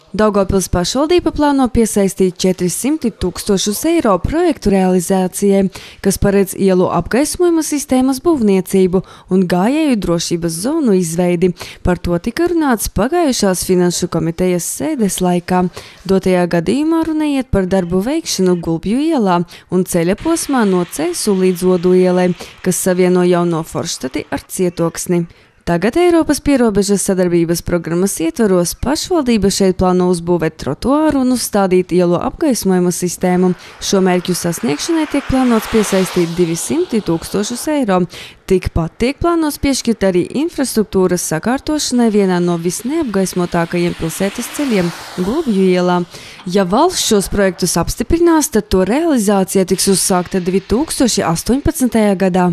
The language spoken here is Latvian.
Daugavpils pašvaldība plāno piesaistīt 400 000 eiro projektu realizācijai, kas paredz ielu apgaismojuma sistēmas būvniecību un gājēju drošības zonu izveidi. Par to tika runāts pagājušās finanšu komitejas sēdes laikā. Dotajā gadījumā runa iet par darbu veikšanu Gulbju ielā un ceļa posmā no Cēsu līdz Odu ielai, kas savieno Jauno Forštati ar Cietoksni. Tagad Eiropas pierobežas sadarbības programmas ietvaros pašvaldība šeit plāno uzbūvēt trotuāru un uzstādīt ielu apgaismojuma sistēmu. Šo mērķu sasniegšanai tiek plānots piesaistīt 200 000 eiro. Tikpat tiek plānots piešķirt arī infrastruktūras sakārtošanai vienā no visneapgaismotākajiem pilsētas ceļiem – Gulbju ielā. Ja valsts šos projektus apstiprinās, tad to realizācija tiks uzsākta 2018. gadā.